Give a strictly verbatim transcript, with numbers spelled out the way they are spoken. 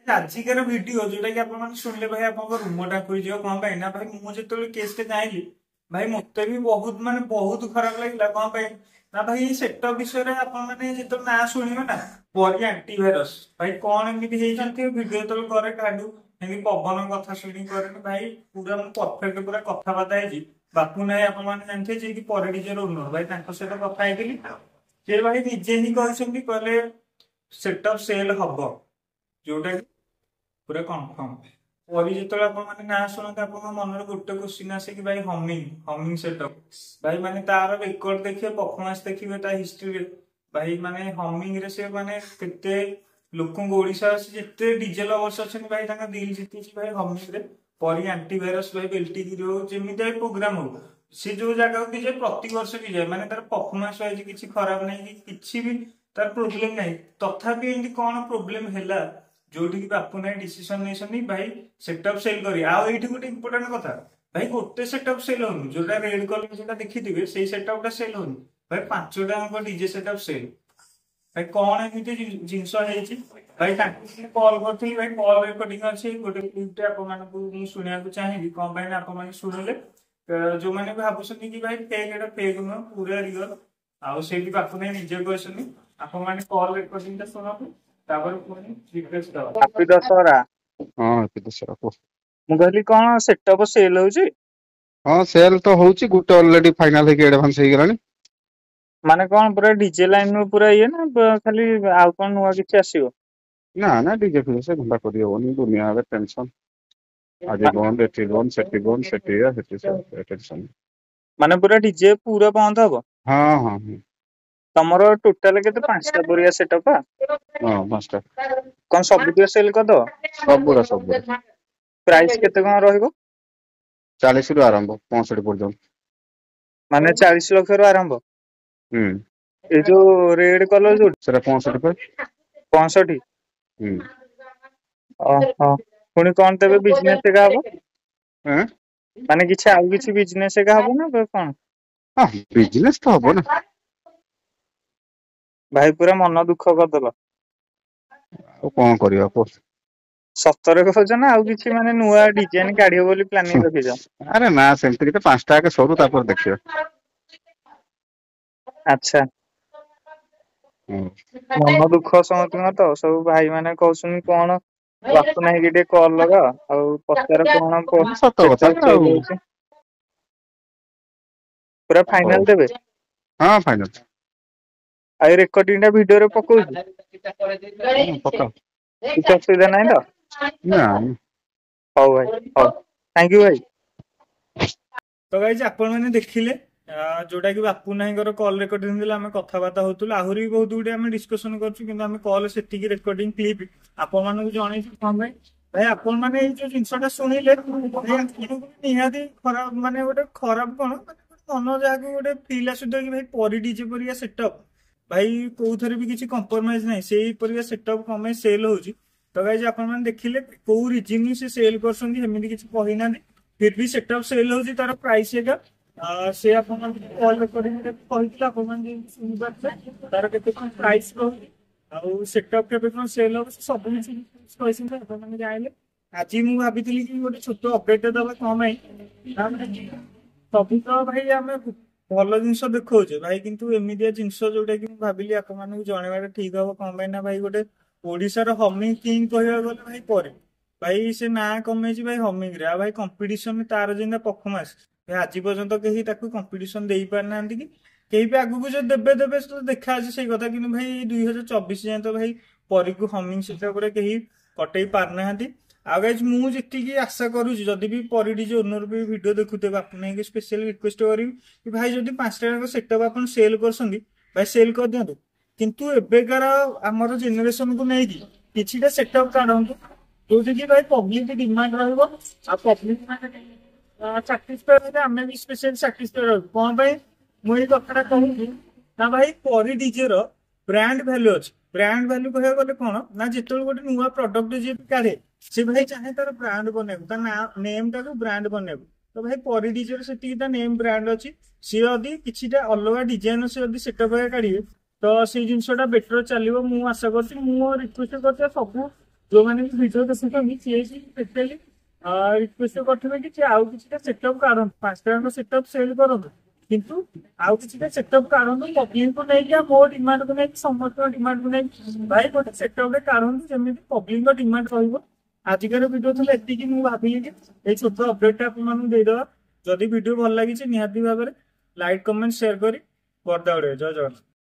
ଆଜିକାର ଭିଡିଓ ଯୋଉଟା କି ଆପଣ ମାନେ ଶୁଣିଲେ ଭାଇ, ଆପଣଙ୍କ ରୁମ ଟାଙ୍କୁରି ଯିବ। କଣ ପାଇଁ ନା ଭାଇ, ମୁଁ ଯେତେବେଳେ କେସଟା ଜାଣିଲି ଭାଇ, ମତେ ବି ବହୁତ ମାନେ ବହୁତ ଖରାପ ଲାଗିଲା। କଣ ପାଇଁ ନା ଭାଇ, ସେଟଅପ୍ ବିଷୟରେ ଆପଣ ମାନେ ଯେତେବେଳେ ନାଁ ଶୁଣିବେ ନା, ପରି ଆଣ୍ଟିଭାଇରସ, ଭାଇ କଣ ଏମିତି ହେଇଛନ୍ତି। ଭିଡିଓ ଯେତେବେଳେ କରେ, କାହାଠୁ ଏମିତି ପବନ କଥା ଶୁଣିକି କରେନି ଭାଇ, ପୁରା ମୁଁ ପରଫେକ୍ଟ ପୁରା କଥାବାର୍ତ୍ତା ହେଇଛି। ବାପୁ ନାଇଁ, ଆପଣ ମାନେ ଜାଣିଥିବେ, ଯିଏକି ପରି ଡିଜେର ଓନର, ଭାଇ ତାଙ୍କ ସହିତ କଥା ହେଇଥିଲି। ସେ ଭାଇ ନିଜେ ହିଁ କହିଛନ୍ତି, କହିଲେ ସେଟଅପ୍ ସେଲ୍ ହବ, ଯୋଉଟା କି ପୁରା କନଫର୍ମ। ପରି ଯେତେବେଳେ ଆପଣ ମାନେ ନାଁ ଶୁଣନ୍ତି, ଆପଣଙ୍କ ମନରେ ଗୋଟେ କ୍ୱେଶ୍ଚିନ୍ ଆସେ କି ଭାଇ ହମିଂ ହମିଂ ସେଟଅପ୍। ଭାଇ ମାନେ ତାର ରେକର୍ଡ ଦେଖିବେ, ପରଫର୍ମାନ୍ସ ଦେଖିବେ ତା ହିଷ୍ଟ୍ରିରେ, ଭାଇ ମାନେ ହମିଂ ରେ ସେ ମାନେ କେତେ ଲୋକଙ୍କୁ, ଓଡିଶା ଯେତେ ଡିଜେ ଲଭର୍ସ ଅଛନ୍ତି ଭାଇ, ତାଙ୍କ ଦିଲ୍ ଜିତିଛି ଭାଇ ହମିଂ ରେ। ପରି ଆଣ୍ଟିଭାଇରସ ଭାଇ ବେଲ୍ଟିଗିରି ହଉ, ଯେମିତିଆ ପ୍ରୋଗ୍ରାମ ହଉ, ସେ ଯୋଉ ଜାଗାକୁ ବି ଯାଏ, ପ୍ରତିବର୍ଷ ବି ଯାଏ, ମାନେ ତାର ପରଫର୍ମାନ୍ସ ୱାଇଜ କିଛି ଖରାପ ନାହିଁ କି କିଛି ବି ତାର ପ୍ରୋବ୍ଲେମ ନାହିଁ। ତଥାପି ଏମିତି କଣ ପ୍ରୋବ୍ଲେମ ହେଲା ଯୋଉଠିକି ବାପୁ ନାଇଁ ଡିସିସନ ନେଇଛନ୍ତି ଭାଇ ସେଟଅପ୍ ସେଲ୍ କରି। ଆଉ ଏଇଠି ଗୋଟେ ଇମ୍ପୋର୍ଟାଣ୍ଟ କଥା ଭାଇ, ଗୋଟେ ସେଟଅପ୍ ସେଲ୍ ହଉନି। ଯୋଉଟା ରେଡ୍ କଲର ଯୋଉଟା ଦେଖିଥିବେ, ସେଇ ସେଟଅପ୍ ଟା ସେଲ୍ ହଉନି ଭାଇ, ପାଞ୍ଚଟା ଯାକ ଡିଜେ ସେଟଅପ୍ ସେଲ୍। ଭାଇ କଣ ଏମିତି ଜିନିଷ ହେଇଛି? ଭାଇ ତାଙ୍କୁ କଲ୍ କରିଥିଲି ଭାଇ, କଲ୍ ରେକର୍ଡିଂ ଅଛି, ଗୋଟେ କ୍ଲିପଟେ ଆପଣମାନଙ୍କୁ ମୁଁ ଶୁଣିବାକୁ ଚାହିଁବି। କଣ ପାଇଁ ନା ଆପଣମାନେ ଶୁଣିଲେ ଯୋଉମାନେ ବି ଭାବୁଛନ୍ତି କି ଭାଇ ଫେକ୍, ଏଇଟା ଫେକ୍ ନୁହଁ, ପୁରା ରିଅଲ। ଆଉ ସେଇଠି ବାପୁ ନାଇଁ ନିଜେ କହିଛନ୍ତି। ଆପଣମାନେ କଲ୍ ରେକର୍ଡିଂ ଟା ଶୁଣନ୍ତୁ, ତାପରେ ପୁଣି ରିକ୍ୱେଷ୍ଟ ଦବା। ହାପି ଦଶହରା। ହଁ, ହାପି ଦଶହରା, କୁହ। ମୁଁ କହିଲି କଣ ସେଟଅପ୍ ସେଲ୍ ହଉଛି? ହଁ, ସେଲ୍ ତ ହଉଛି। ଗୋଟେ ଅଲରେଡି ଫାଇନାଲ ହେଇକି ଆଡଭାନ୍ସ ହେଇଗଲାଣି। ମାନେ କଣ ପୁରା ଡିଜେ ଲାଇନ ରୁ ପୁରା ଇଏ ନା ଖାଲି ଆଉ କଣ ନୂଆ କିଛି ଆସିବ? ନା ନା, ଡିଜେ ଫିଜେ ସେ ଧନ୍ଦା କରିହବନି। ଦୁନିଆ ଏବେ ଟେନସନ, ଆଜି ବନ୍ଦ, ଏଠି ବନ୍ଦ, ସେଠି ବନ୍ଦ, ସେଠି ଇଏ, ସେଠି ଟେନସନ। ମାନେ ପୁରା ଡିଜେ ପୁରା ବନ୍ଦ ହବ? ହଁ ହଁ ହଁ। ତମର ଟୋଟାଲ କେତେ, ପାଞ୍ଚଟା ପରିକା ସେଟଅପ୍? ହଁ, ପାଞ୍ଚଟା। କଣ ସବୁତିକ ସେଲ୍ କରିଦବ? ସବୁରା ସବୁରା। ପ୍ରାଇସ୍ କେତେ କଣ ରହିବ? ଚାଳିଶ ରୁ ଆରମ୍ଭ, ପଞ୍ଚଷଠି ପର୍ଯ୍ୟନ୍ତ। ମାନେ ଚାଳିଶ ଲକ୍ଷରୁ ଆରମ୍ଭ? ହୁଁ। ଏଇ ଯୋଉ ରେଡ୍ କଲର ଯୋଉଠି? ସେଟା ପଞ୍ଚଷଠି ପା। ପଞ୍ଚଷଠି? ହୁଁ। ଓହୋ, ପୁଣି କଣ ତେବେ ବିଜନେସ ଏକା ହବ? ଏଁ? ମାନେ କିଛି ଆଉ କିଛି ବିଜନେସ ଏକା ହବ ନା କଣ? ହଁ, ବିଜନେସ ତ ହବ ନା। ଭାଇ ପୁରା ମନ ଦୁଃଖ କରିଦେଲ। ଆଉ କଣ କରିବା କୁହ? ସତରେ କହୁଛ ନା ଆଉ କିଛି ମାନେ ନୂଆ ଡିଜାଇନ କାଢିବ ବୋଲି ପ୍ଲାନିଂ ରଖିଛ? ଆରେ ନା, ସେମିତି କିଛି, ପାଞ୍ଚଟା ଆଗେ ସରୁ, ତାପରେ ଦେଖିବା। ଆଚ୍ଛା। ହୁଁ। ମନ ଦୁଃଖ ସମସ୍ତଙ୍କର ତ, ସବୁ ଭାଇ ମାନେ କହୁଛନ୍ତି କଣ ବାପୁ ନାଇଁ କି ଟିକେ କଲ୍ ଲଗାଅ ଆଉ ପଚାର କଣ ସତ କଥା ସେଟଅପ୍ ନା ଆଉ ସେଲ୍ ହଉଛି। ପୁରା ହଉ ଫାଇନାଲ ଦେବେ? ହଁ, ଫାଇନାଲ। ଆଉ ରେକର୍ଡିଂ ଟା ଭିଡିଓରେ ପକଉଛି? ପକାଅ। କିଛି ଅସୁବିଧା ନାହିଁ ତ? ନା। ହଉ ଭାଇ, ହଉ, thank you ଭାଇ। ତ ଗାଇଜ, ଆପଣମାନେ ଦେଖିଲେ ଯୋଉଟା କି ବାପୁ ନାଇଙ୍କର କଲ୍ ରେକର୍ଡିଂ ଥିଲା, ଆମେ କଥାବାର୍ତ୍ତା ହଉଥିଲୁ। ଆହୁରି ବି ବହୁତ ଗୁଡିଏ ଆମେ ଡିସ୍କସନ କରୁଛୁ, କିନ୍ତୁ ଆମେ କଲ୍ ସେତିକି ରେକର୍ଡିଂ କ୍ଲିପ୍ ଆପଣମାନଙ୍କୁ ଜଣେଇଛୁ। କଣ ପାଇଁ ଭାଇ, ଆପଣ ମାନେ ଏଇ ଯୋଉ ଜିନିଷଟା ଶୁଣିଲେ ଭାଇ, ଆପଣଙ୍କୁ ନିହାତି ଖରାପ, ମାନେ ଗୋଟେ ଖରାପ କଣ, ମାନେ ମନ ଯାହାକୁ ଗୋଟେ ଫିଲ୍ ଆସୁଥିବ କି ଭାଇ ପରି ଡିଜେ ପରିକା ସେଟଅପ୍, ଭାଇ କୋଉଥରେ ବି କିଛି କମ୍ପ୍ରମାଇଜ ନାହିଁ, ସେଇ ପରିକା ସେଟଅପ୍ କଣ ପାଇଁ ସେଲ୍ ହଉଛି। ତ ଗାଇଜ, ଆପଣମାନେ ଦେଖିଲେ କୋଉ ରିଜିନ ସେ ସେଲ୍ କରୁଛନ୍ତି, ସେମିତି କିଛି କହିନାହାନ୍ତି, ଫିର ବି ସେଟଅପ୍ ସେଲ୍ ହଉଛି। ତାର ପ୍ରାଇସ୍ ଏକା ସେ ଆପଣମାନଙ୍କୁ କଲ୍ ରେକର୍ଡିଂ କହିଥିଲେ, ଆପଣମାନେ ଯେମିତି ଶୁଣିପାରୁଥିବେ ତାର କେତେ କଣ ପ୍ରାଇସ୍ ରହୁଛି ଆଉ ସେଟଅପ୍ କେବେ କଣ ସେଲ୍ ହବ, ସେ ସବୁ କିଛି କହିଛନ୍ତି, ଆପଣମାନେ ଜାଣିଲେ। ଆଜି ମୁଁ ଭାବିଥିଲି କି ଗୋଟେ ଛୋଟ ଅପଡେଟ୍ ଦବା। କଣ ପାଇଁ ନା ସବୁ ତ ଭାଇ ଆମେ ଭଲ ଜିନିଷ ଦେଖଉଛେ ଭାଇ, କିନ୍ତୁ ଏମିତିଆ ଜିନିଷ ଯୋଉଟା କି ମୁଁ ଭାବିଲି ଆପଣମାନଙ୍କୁ ଜଣେଇବାଟା ଠିକ ହବ। କଣ ପାଇଁ ନା ଭାଇ, ଗୋଟେ ଓଡିଶାର ହମିଂ କିଙ୍ଗ କହିବାକୁ ଗଲେ ଭାଇ ପରି, ଭାଇ ସେ ନାଁ କମେଇଛି ଭାଇ ହମିଂ ରେ। ଆଉ ଭାଇ କମ୍ପିଟିସନ ତାର ଯେମିତିଆ ପରଫର୍ମାନ୍ସ, ଭାଇ ଆଜି ପର୍ଯ୍ୟନ୍ତ କେହି ତାକୁ କମ୍ପିଟିସନ ଦେଇ ପାରିନାହାନ୍ତି କି କେହି ବି ଆଗକୁ ଯଦି ଦେବେ ଦେବେ ତ ଦେଖା ଅଛି ସେଇ କଥା। କିନ୍ତୁ ଭାଇ ଦୁଇ ହଜାର ଚବିଶ ଯାଏଁ ତ ଭାଇ ପରିକୁ ହମିଂ ସେଟଅପରେ କେହି କଟେଇ ପାରୁନାହାନ୍ତି। ଆଉ ଗାଇଜ, ମୁଁ ଯେତିକି ଆଶା କରୁଛି, ଯଦି ବି ପରି ଡିଜେ ଓନର ବି ଭିଡିଓ ଦେଖୁଥିବେ, ଆପଣଙ୍କୁ ସ୍ପେଶିଆଲ ରିକ୍ୱେଷ୍ଟ କରିବି କି ଭାଇ, ଯଦି ପାଞ୍ଚଟା ଯାକ ସେଟଅପ୍ ଆପଣ ସେଲ୍ କରୁଛନ୍ତି ଭାଇ, ସେଲ୍ କରିଦିଅନ୍ତୁ, କିନ୍ତୁ ଏବେକାର ଆମର ଜେନେରେସନକୁ ନେଇକି କିଛିଟା ସେଟଅପ୍ କାଢନ୍ତୁ ଯୋଉଠିକି ଭାଇ ପବ୍ଲିକ ଡିମାଣ୍ଡ ରହିବ ଆଉ ପବ୍ଲିକ ମାନେ ସାଟିସ୍ଫାଏ ରହିବେ, ଆମେ ବି ସ୍ପେଶିଆଲ ସାଟିସ୍ଫାଏ ରହିବୁ। କଣ ପାଇଁ ମୁଁ ଏଇ କଥାଟା କହୁଛି ନା ଭାଇ, ପରି ଡିଜେ ର ବ୍ରାଣ୍ଡ ଭ୍ୟାଲୁ ଅଛି। ବ୍ରାଣ୍ଡ ଭ୍ୟାଲୁ କହିବାକୁ ଗଲେ କଣ ନା ଯେତେବେଳେ ଗୋଟେ ନୂଆ ପ୍ରଡକ୍ଟ ଯିଏ ବି କାଢେ, ସେ ଭାଇ ଚାହେଁ ତାର ବ୍ରାଣ୍ଡ ବନେଇବାକୁ, ତା ନାଁ ନେମ୍ ଟାକୁ ବ୍ରାଣ୍ଡ ବନେଇବାକୁ। ତ ଭାଇ ପରି ଡିଜେର ସେତିକି ତା ନେମ୍ ବ୍ରାଣ୍ଡ ଅଛି। ସିଏ ଯଦି କିଛିଟା ଅଲଗା ଡିଜାଇନ ସେ ଯଦି ସେଟଅପ୍ କାଢିବେ, ତ ସେଇ ଜିନିଷଟା ବେଟର ଚାଲିବ ମୁଁ ଆଶା କରୁଛି। ମୁଁ ରିକ୍ୱେଷ୍ଟ କରୁଛି ସବୁ ଯୋଉମାନେ ବି ଭିଡିଓ ଦେଖୁଛନ୍ତି, ସିଏ ସ୍ପେଶାଲି ରିକ୍ୱେଷ୍ଟ କରିଥିବେ କି ସେ ଆଉ କିଛିଟା ସେଟଅପ୍ କାଢନ୍ତୁ। ପାଞ୍ଚଟା ଯାକ ସେଟଅପ୍ ସେଲ୍ କରନ୍ତୁ, କିନ୍ତୁ ଆଉ କିଛିଟା ସେଟଅପ୍ କାଢନ୍ତୁ। ପବ୍ଲିକକୁ ନେଇକି ଆଉ ମୋ ଡିମାଣ୍ଡକୁ ନେଇକି, ସମସ୍ତଙ୍କ ଡିମାଣ୍ଡକୁ ନେଇକି ଭାଇ ଗୋଟେ ସେଟଅପ୍ ରେ କାଢନ୍ତୁ, ଯେମିତି ପବ୍ଲିକଙ୍କ ଡିମାଣ୍ଡ ରହିବ। ଆଜିକାର ଭିଡିଓ ଥିଲା ଏତିକି। ମୁଁ ଭାବିଲି କି ଏଇ ଛୋଟ ଅପଡେଟ୍ ଟା ଆପଣମାନଙ୍କୁ ଦେଇଦେବା। ଯଦି ଭିଡିଓ ଭଲ ଲାଗିଛି, ନିହାତି ଭାବରେ ଲାଇକ୍, କମେଣ୍ଟ, ସେୟାର କରି କରିଦେବେ। ଜୟ ଜଗନ୍ନାଥ।